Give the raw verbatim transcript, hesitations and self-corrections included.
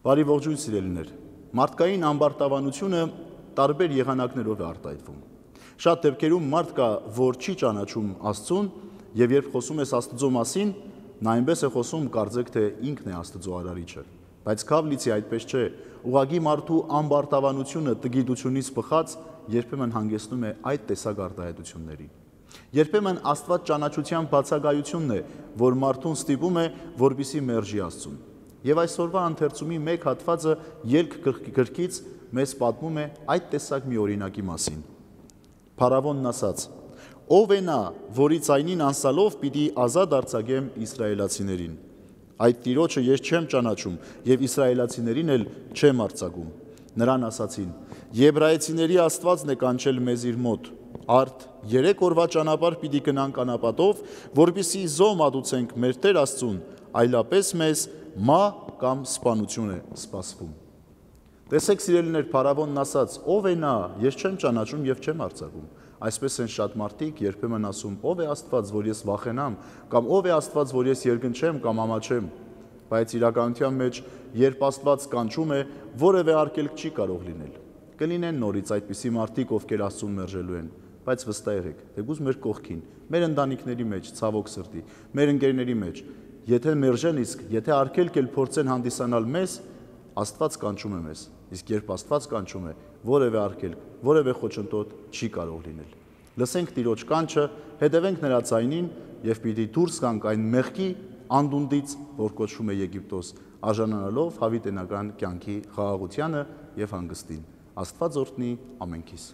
Բարի ողջույն սիրելիներ, մարդկային ամբարտավանությունը տարբեր եղանակներով է արտահայտվում։ Շատ դեպքերում մարդ կա, որ չի ճանաչում Աստծուն, եւ երբ խոսում ես Աստծո մասին, նա այնպես է խոսում, կարծեք թե ինքն է Աստծո արարիչը։ Բայց Քավլիցի այդպես չէ, ուղղակի մարդու ամբարտավանությունը տգիտությունից բխած երբեմն հանգեցնում է այդ տեսակ արտահայտությունների։ Երբեմն Աստված ճանաչության բացակայությունն է, որ մարդուն ստիպում է, որպեսզի մերժի Աստծուն։ Եվ այսօրվա ընթերցումի մեկ հատվածը ելք գրքից մեզ պատմում է այդ տեսակ մի օրինակի մասին։ Փարավոնն ասաց. «Ով է նա, որի ձայնին անսալով պիտի ազատ արձակեմ իսրայելացիներին։ Այդ Տիրոջը ես չեմ ճանաչում եւ իսրայելացիներին էլ չեմ արձակում»։ Նրան ասացին. «Եբրայեցիների Աստվածն է կանչել մեզ իր մոտ։ Արդ երեք օրվա ճանապարհ պիտի գնանք անապատով, որպեսզի զոհ մատուցենք մեր Տեր Աստծուն, այլապես մեզ մահ կամ սպանություն է սպասվում»։ Տեսեք սիրելիներ, փարավոնն ասաց. «Ով է նա, ես չեմ ճանաչում եւ չեմ արձակում»։ Այսպես են շատ մարդիկ երբեմն ասում. «Ով է Աստված, որ ես վախենամ», կամ «Ով է Աստված, որ ես երկնչեմ կամ ամաչեմ»։ Բայց իրականության մեջ, երբ Աստված կանչում է, որևէ արգելք չի կարող լինել։ Կլինեն նորից այդպիսի մարդիկ, ովքեր Աստծուն մերժելու են, բայց վստահ եղեք, թեկուզ մեր կողքին, մեր ընտանիքների մեջ, ցավոք սրտի, մեր ընկերների մեջ, եթե մերժեն, իսկ եթե արգելք էլ փորձեն հանդիսանալ մեզ, Աստված կանչում է մեզ, իսկ երբ Աստված կանչում է, որևէ արգելք, որևէ խոչընդոտ չի կարող լինել։ Լսենք Տիրոջ կանչը, հետևենք նրա ձայնին եւ պիտի դուրս գանք այն մեղքի անդունդից, որ կոչվում է Եգիպտոս, արժանանալով հավիտենական կյանքի խաղաղությանը եւ հանգստին։ Աստված օրհնի ամենքիս։